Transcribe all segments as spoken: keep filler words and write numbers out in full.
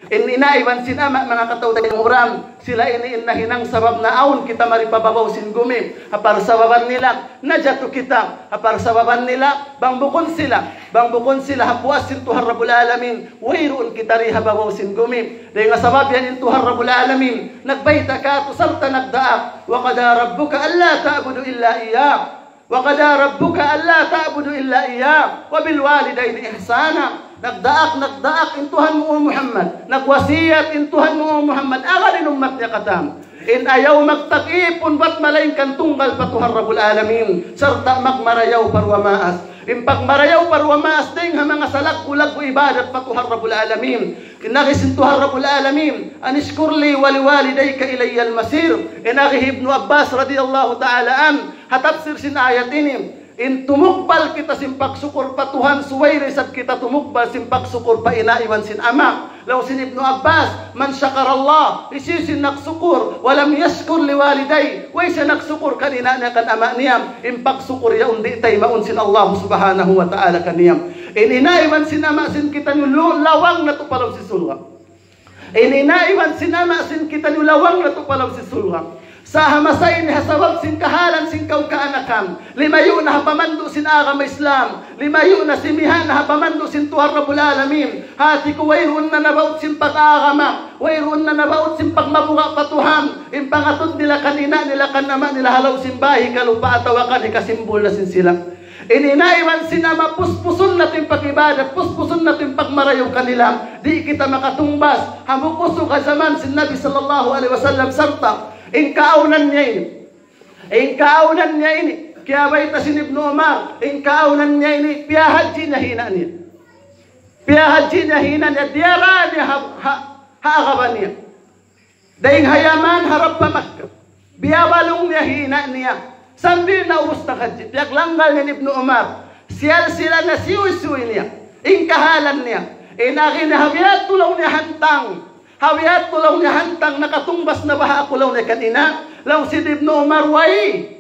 In ina' iban sin ama', manga kataw-taymanghuran, sila ini in nahinang sabab na awn kita mari pa babaw sin gumi. Ha parsababan nila, najatu kita. Ha parsababan nila, bang bukun sila, bang bukun sila ha puas sin Tuhan Rabbul Alamin, wayruun kita di ha babaw sin gumi. Dayn ha sabab yan in Tuhan Rabbul Alamin nagbayta' kātu' sarta' nagdaak, وقضى ربك ألا تعبدوا إلا إياه وقضى ربك ألا تعبدوا إلا إياه وبالوالدين إحسانا. Nagdaak, nagdaak in Tuhan mu, O Muhammad. Nagwasiyat in Tuhan mu, O Muhammad, agad in ummat niya katan, in ayaw magtag-ipun bat malaingkan tunggal pa Tuhan Rabbul Alamin, sarta' magmarayaw pa duwa maas. In pagmarayaw pa duwa maas dayn ha manga salaggu'-laggu' ibadat pa Tuhan Rabbul Alamin. In agi sin Tuhan Rabbul Alamin, أن اشكر لي ولوالديك إلي المصير. In agi hi Ibnu Abbas radiyallahu ta'ala anhu, ha tafsir sin ayat ini, in tumugbal kita sin pagsukur pa Tuhan, subay da isab kita tumugbal sin pagsukur pa ina' iban sin ama'. Laung sin Ibnu Abbas, من شكر الله, hisiyu-siyu in nagsukur, ولم يشكر لوالديه, way siya nagsukur kan ina' niya kan ama' niya, in pagsukur yaun di' taymaun sin Allah subhanahu wa ta'ala kaniya. In ina' iban sin ama' sin kitaniyu lu-, lawang natu' pa lawm sin surga'. In ina' iban sin ama' sin kitaniyu lawang natu' pa lawm sin surga'. Sa' ha masa ini ha sabab sin kahalan sin kaw kaanakan, limayu' na ha pamandu' sin agama Islam, limayu' na, simiha' na ha pamandu' sin Tuhan Rabbul Alamin. Hati ku, wayruun na nabaut sin pag-agama, wayruun na nabaut sin pagmabuga' pa Tuhan. In pangatud nila kan ina' nila kan ama' nila ha lawm sin bāy kalupa atawa kan hikasimbul na sin sila. In ina' iban sin ama', puspusun natu' in pag-ibadat, puspusun natu' in pagmarayaw kanila. Di' kita makatungbas. Hambuuk usug ha jaman sin Nabi sallallahu alayhi wasallam sarta' in kaawnan niya ini. In kaawnan niya ini, kiyabayta' sin Ibnu Umar, in kaawnan niya ini, piyahadji niya hi ina' niya. Piyahadji niya hi ina' niya, diyara niya ha, ha, ha agama niya. Dayn ha Yaman harap pa Makkah. Biyabalung niya hi ina' niya. Sambil naubus naghadji, piyaglanggal niya hi Ibnu Umar. Siyalsilan niya, siyuysuy niya in kahalan niya. In agi niya, ha biya' tuud laung niya hantang. Ha biya' tuud laung niya hantang, nakatungbas na baha' aku laung niya kan ina'. Laung sin Ibnu Umar, way.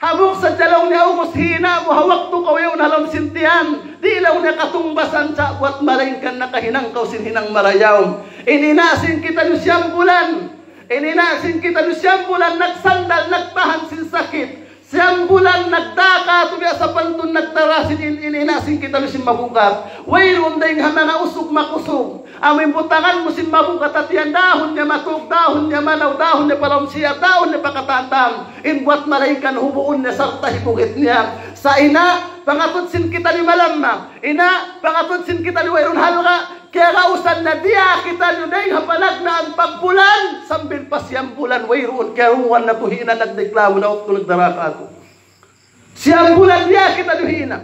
Hambuuk sadja laung niya ubus hi ina' mu ha waktu kaw yaun ha lawm sin tiyan. Di' laung niya katungbasan sa' buwat malaingkan nakahinang kaw sin hinang marayaw. In ina' sin kitaniyu siyam bulan. In ina' sin kitaniyu siyam bulan nagsandal, nagtahan sin sakit. Siyam bulan nagdaka tu biya' sapantun nagtara sin in, in ina' sin kitaniyu sin mabugat. Wayruun dayn ha manga usug makusug. Amu in butangan mu sin mabugat ha tiyan, dahun niya matug, dahun niya manaw, dahun niya pa lawm siyar, dahun niya pa katan-katan. In buwat malaingkan hubuun niya sarta' hibugit niya. Sa' ina', pangatud sin kitaniyu malamma. Ina', pangatud sin kitaniyu wayruun halga'. Kiyagausan na diya kitaniyu dayn ha panagnaan pagbulan, sambil pa siyam bulan wayruun. Kiyarungugan natu' hi ina', nagdiklamu na waktu nagdara kātu'. Siyam bulan diya kitaniyu hi ina'.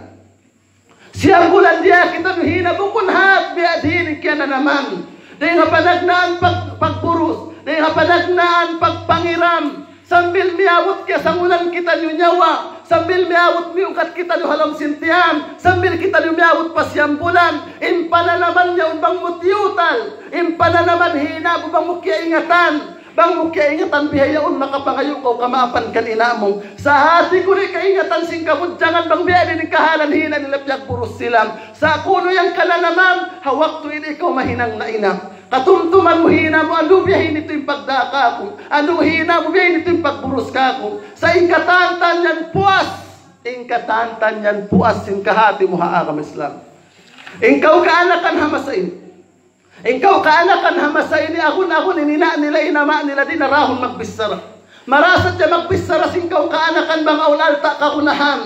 Siyam bulan diya kitaniyu hi ina', bukun hat biya' diin in kiyananaman. Dayn ha panagnaan pag-, pagburus, dayn ha panagnaan pagpangiram, sambil miyabut kiyasangunan kitaniyu nyawa, sambil miyabut miyugat kitaniyu ha lawm sin tiyan, sambil kitaniyu miyabut pa siyam bulan, in pananaman niya yaun bang mu tiyutal, in pananaman hi ina' mu bang mu kiyaingatan, bang mu kiyaingatan bihaun makapangayu' kaw kamaapan kan ina' mu. Sa' hati ku di' kaingatan sin kabudjangan bang biya' diin in kahalan hi ina' nila piyagburus sila. Sa' kunu' yan kananaman, ha waktu ini kaw mahinang na ina'. Katumtuman mu hi ina' mu, andu' biya' ini tuud in pagdā kāku'. Andu' hi ina' mu, biya' ini tuud in pagburus kāku'. Sa' in katantan yan puas. In katantan yan puas sin kahāti mu ha agama Islam. In kaw kaanakan ha masa ini. In kaw kaanakan ha masa ini, agun-agun in ina' nila, in ama' nila, di' na rahun magbichara. Marayaw sadja magbichara sin kaw kaanakan bang awn alta' kagunahan.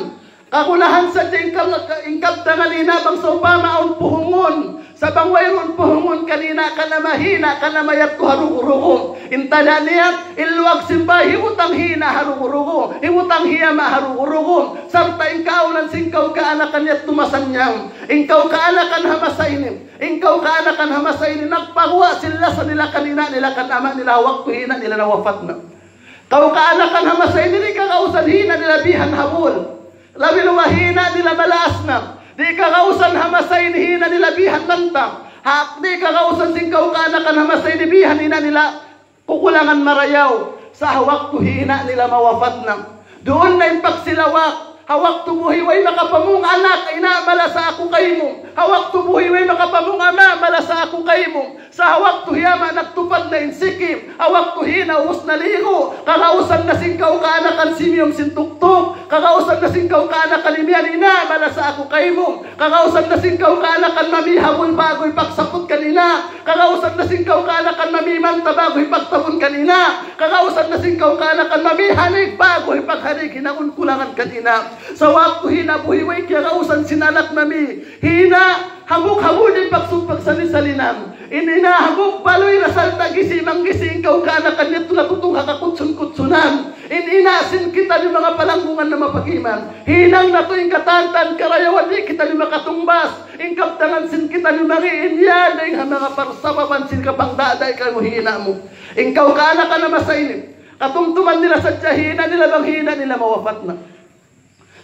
Kagunahan sadja in kab-, in kabtangan ina' bang sawpama awn puhungun. Sa' bang wayruun puhungun kan ina', kan ama', hi ina' kan ama' yadtu ha rugu-rugu. In tanda' niya, in luwag sin bāy hibutang hi ina' ha rugu-rugu. Hibutang hi ama' ha rugu-rugu. Sarta' in kaawnan sin kaw kaanakan yadtu masannyang. In kaw kaanakan ha masa ini. In kaw kaanakan ha masa ini nagpaguwa' sin lasa nila kan ina' nila kan ama' nila ha waktu hi ina' nila nawapat na. Kaw kaanakan ha masa ini di' kagausan hi ina' nila bihan ha bul. Labi luba hi ina' nila malaas na. Di' kagausan ha masa ini hi ina' nila bihan lantang. Ha, di' kagausan sin kaw kaanakan ha masa ini bihan ina' nila kukulangan marayaw, sa' ha waktu hi ina' nila mawapat na. Duun na in pagsilawak, Ha waktu buhi' way makapamung anak, ina', malasa aku kaymu. Ha waktu buhi' way makapamung ama', malasa aku kaymu. Sa' ha waktu hi ama' nagtupad na in sikim, ha waktu hi ina' ubus naligu', kagausan na sin kaw kaanakan simiyum sin tuktuk, kagausan na sin kaw kaanakan imiyan, ina', malasa aku kaymu. Kagausan na sin kaw kaanakan mami habul ba'gu hipagsaput kan ina'. Kagausan na sin kaw kaanakan mami manta ba'gu hipagtabun kan ina'. Kagausan na sin kaw kaanakan mami hanig ba'gu hipaghanig, hinangun kulangan kan ina'. Sa' waktu hi ina' buhi' way kiyagausan sin anak mami, hi ina' hambuuk habul in pagsug pagsali-salinan. In ina' hambuuk baluy na sarta' gisi' manggisi' in kaw kaanakan yadtu na tutung ha kakutsun-kutsunan. In ina' sin kitaniyu manga palanggungan na mapag-iman. Hinang natu' in katantan karayawan di' kitaniyu makatungbas. In kabtangan sin kitaniyu mangi' in yan dayn ha manga parsababan sin kapangdada' kaymu hi ina' mu. In kaw kaanakan na masa ini, katumtuman nila sadja hi ina' nila bang hi ina' nila mawapat na.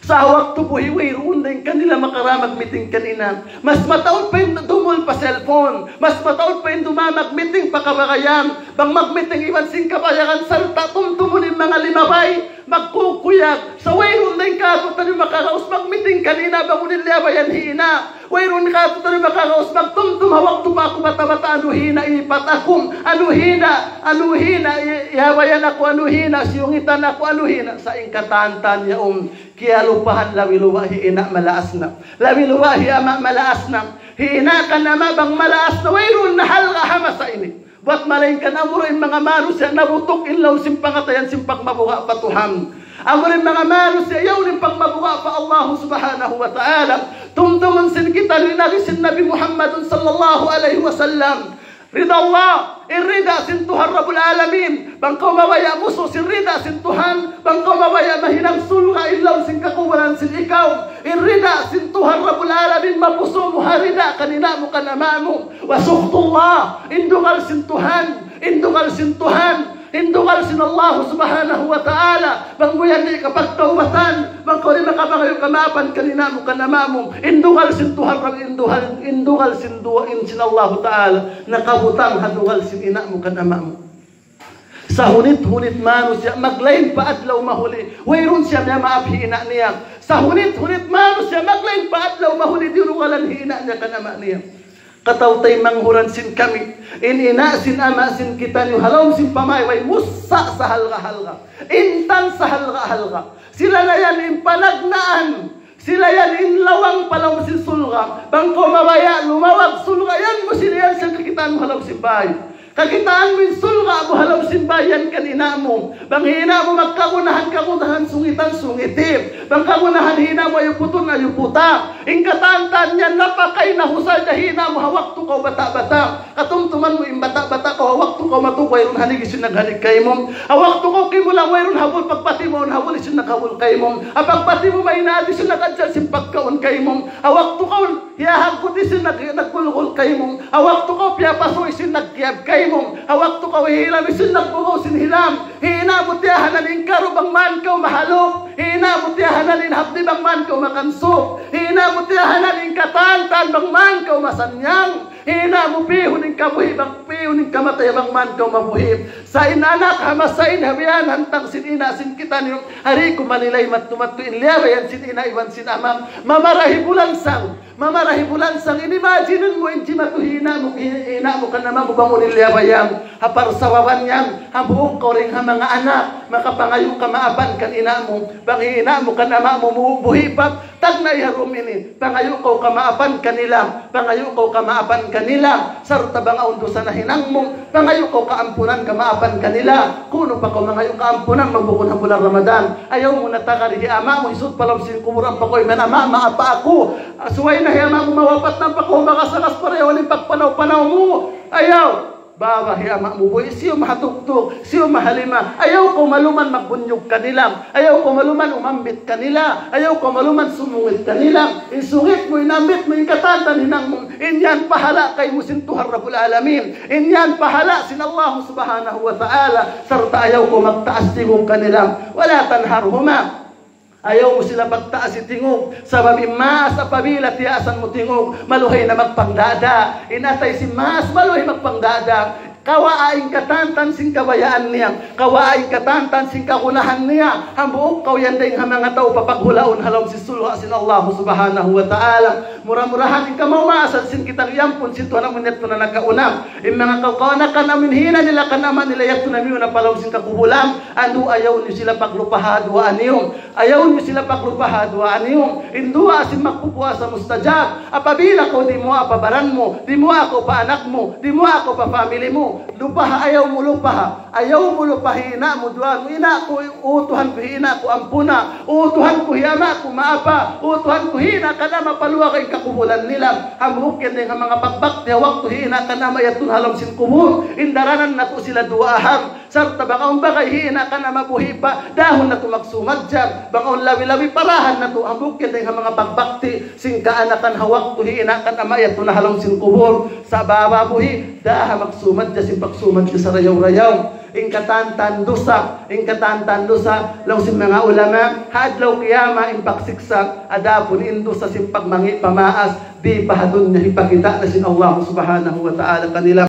Sa' ha waktu buhi' wayruun dayn kanila makara magmiting kan ina'. Mas mataud pa in dumul pa cellphone. Mas mataud pa in duma magmiting pa kabagayan. Bang magmiting iban sin kabayagan sarta' tumtumun in manga limabay, magkukuyag. Sa' wayruun dayn kātu'niyu makagaus magmiting kan ina' bang unu in liyabayan hi ina'. Wayruun kātu'niyu makagaus magtumtum ha waktu pa aku bata'-bata', anu hi ina' ipat aku, anu hi ina', anu hi ina' i-, iyabayan aku, anu hi ina' siyungitan aku, anu hi ina'. Sa' in katantan yaun, kiyalupahan labi-luba' hi ina' malaas na. Labi-luba' hi ama' malaas na. Hi ina' kan ama' bang malaas na, wayruun na halga' ha masa ini. Buwat malaingkan amura in manga manusiya' nabutuk in lawm sin pangatayan sin pagmabuga' pa Tuhan. Amura in manga manusiya' yaun in pagmabuga' pa Allah Subhanahu wa Ta'ala. Tumtumun sin kitaniyu in agi sin Nabi Muhammadun sallallahu alayhi wasallam. Rida Allah, in rida sin Tuhan Rabbul Alamin. Bang kaw mabaya' musu' sin rida sin Tuhan, bang kaw mabaya' mahinang surga' in lawm sin kakuburan sin ikaw. In rida sin Tuhan Rabbul Alamin, mapusu' mu ha rida kan ina' mu kan ama' mu. وسخط الله, in dugal sin Tuhan, in dugal sin Tuhan, in dugal sin Allah Subhanahu wa Ta'ala. Bang mu yan di' kapagtaubatan, bang kaw di' makapangayu' kamaapan kan ina' mu kan ama' mu, in dugal sin Tuhan, in dugal, in dugal sin duwa, in sin Allah Ta'ala, nakabutang ha dugal sin ina' mu kan ama' mu. Sahunit-hunit manusiya', maglain pa adlaw mahuli, wayruun siya miyamaap hi ina' niya. Sahunit-hunit manusiya', maglain pa adlaw mahuli, dinugalan hi ina' niya kan ama' niya. Kataw-taymanghuran sin kami, in ina' sin ama' sin kitaniyu ha lawm sin pamay way mussa' sahalga'-halga', intan sahalga'-halga'. Sila na yan in panagnaan. Sila yan in lawang pa lawm sin surga'. Bang kaw mabaya' lumawag surga', yan mu sila yan sin kakitaan mu ha lawm sin bay. Kakitaan mu in surga' mu ha lawm sin bay yan kan ina' mu. Bang hi ina' mu magkagunahan, kagunahan, sungitan, sungiti. Bang kagunahan hi ina' mu ayuputun, ayuputa. In katantan yan napakay na husal da hi ina' mu ha waktu kaw bata'-bata'. Katumtuman mu in bata'-bata' kaw, ha waktu kaw matug wayruun hanig sin naghanig kaymu. Ha waktu kaw kimulang wayruun habul, pagpati mu awn habul sin naghabul kaymu. Ha pagpati mu maynat sin nag-ajal sin pagkaun kaymu. Ha waktu kaw hiyahaggut sin nag-, naggulgul kaymu. Ha waktu kaw piyapasu' sin nagkiyab kaymu. Ha waktu kaw hihilam sin nagbugaw sin hilam. Hi ina' mu tiyahanan in karu bang man kaw mahalup. Hi ina' mu tiyahanan in hapdi bang man kaw makansup. Hi ina' mu tiyahanan in katantan bang man kaw masannyang. Hi ina' mu pihun in kabuhi' bang pihun in kamatay bang man kaw mabuhi'. Sa' in anak ha masa ini ha biya' hantang sin ina' sin kitaniyu, di' ku malilay madtu-madtu in liyabayan sin ina' iban sin ama'. Mamarahi bulansang, mamarahi bulansang. In imagine mu in jimatu hi ina' mu, hi ina' mu kan ama' mu bang unu in liyabayan. Ha parsababan yan, hambuuk kaw dayn ha manga anak, makapangayu' kamaapan kan ina' mu. Bang hi ina' mu kan ama' mu mu-, buhi' pa, tagna' ha dum ini, pangayu' kaw kamaapan kanila, pangayu' kaw kamaapan kanila, sarta' bang awn dusa nahinang mu, pangayu' kaw kaampunan kamaapan kanila. Kunu' pa kaw mangayu' kaampunan magbukun ha bulan Ramadan. Ayaw mu na tagari hi ama' mu, hisuut pa lawm sin kubul ampa kaw iman, "Ama', maapa aku." Subay na hi ama' mu mawapat na ampa kaw makasakas pa dayn ha pagpanaw-panaw mu. Ayaw. Baba hi ama' mu buhi', siyu mahatuktuk, siyu mahalima. Ayaw kaw maluman magbunyug kanila. Ayaw kaw maluman umambit kanila. Ayaw kaw maluman sumungit kanila. In sungit mu, in ambit mu, in katantan hinang mu, in yan pahala' kaymu sin Tuhan Rabbul Alamin. In yan pahala' sin Allah Subhanahu wa Ta'ala. Sarta' ayaw kaw magtaas tingug kanila. ولا تنهرهما. Ayaw mu sila pagtaasi tingug, sabab in maas apabila tiyaasan mu tingug, maluhay na magpangdada'. In atay sin maas, maluhay magpangdada'. Kawaa in katantan sin kabayaan niya, kawaa in katantan sin kagunahan niya, hambuuk kaw yan dayn ha manga tau papaghulaun ha lawm sin surga' sin Allah Subhanahu wa Ta'ala. Mura-murahan in kamaasan sin kitaniyu ampun sin Tuhan amun yadtu na nakauna. In manga kaganakan amun hinang nila kan ama' nila yadtu na miyuna pa lawm sin kakubulan, andu' ayaw niyu sila paglupaha duwaa niyu. Ayaw niyu sila paglupaha duwaa niyu. In duwaa sin magpupuasa mustajab. Apabila kaw dimuwaa pa baran mu, dimuwaa kaw pa anak mu, dimuwaa kaw pa family mu, lupaha, ayaw mu lupaha. Ayaw mu lupaha hi ina' mu, duwaa mu, "Ina' ku, O Tuhan ku, hi ina' ku ampuna. O Tuhan ku, hi ama' ku maapa. O Tuhan ku, hi ina' kan ama', paluaga in kakubulan nila." Hambuuk yan dayn ha manga pagbakti ha waktu hi ina' kan ama' yadtu na ha lawm sin kubul. In daranan natu' sila duwaahan. Sarta' bang awn bagay hi ina' kan ama' buhi' pa, dahun natu' magsumadja. Bang awn labi-labi, parahan natu'. Hambuuk yan dayn ha manga pagbakti sin kaanakan ha waktu hi ina' kan ama' yadtu na ha lawm sin kubul. Sa' baba buhi', daha magsumadja sin pagsumadja sarayaw-rayaw. In katantan dusa, in katantan dusa, laung sin manga ulama, ha adlaw kiyamat in pagsiksa', adapun in dusa sin pagmangi' pa maas, di' pa ha dunya hipakita' na sin Allah Subhanahu wa Ta'ala kanila.